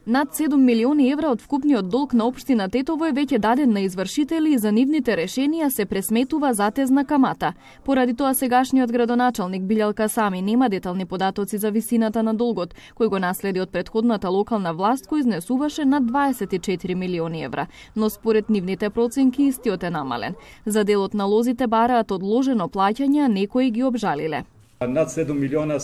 Над 7 милиони евра од вкупниот долг на општина Тетово е веќе даден на извршители и за нивните решенија се пресметува затезна камата. Поради тоа сегашниот градоначалник Билјал Касами нема детални податоци за висината на долгот, кој го наследи од претходната локална власт кој изнесуваше над 24 милиони евра, но според нивните проценки истиот е намален. За делот на лозите бараат одложено плаќање, а некои ги обжалиле. Над 7 милиона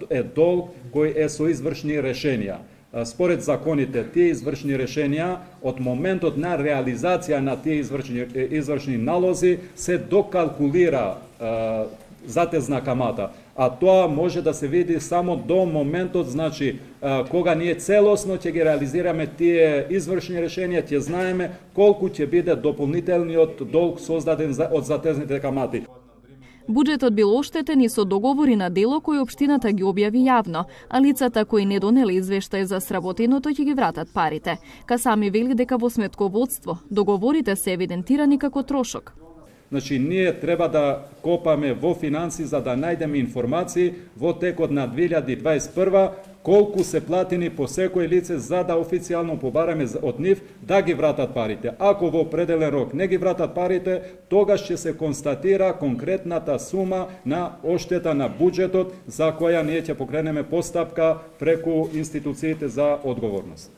е долг кој е со извршни решенија. Според законите, тие извршни решенија од моментот на реализација на тие извршни налози се докалкулира затезна камата, а тоа може да се види само до моментот, значи кога ние целосно ќе ги реализираме тие извршни решенија, ќе знаеме колку ќе биде дополнителниот долг создаден од затезните камати. Буџетот бил оштетен и со договори на дело кои општината ги објави јавно, а лицата кои не донеле извештај за сработеното ќе ги вратат парите. Касами вели дека во сметководство договорите се евидентирани како трошок. Значи, ние треба да копаме во финанси за да најдеме информации во текот на 2021 колку се платени по секој лице за да официјално побараме од нив да ги вратат парите. Ако во определен рок не ги вратат парите, тогаш ќе се констатира конкретната сума на оштета на буџетот за која ние ќе покренеме постапка преку институциите за одговорност.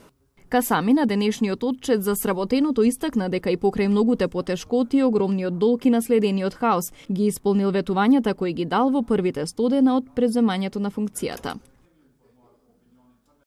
Касами на денешниот отчет за сработеното истакна дека и покрај многуте потешкоти, огромниот долг и наследениот хаос ги исполнил ветувањата кои ги дал во првите 100 дена од преземањето на функцијата.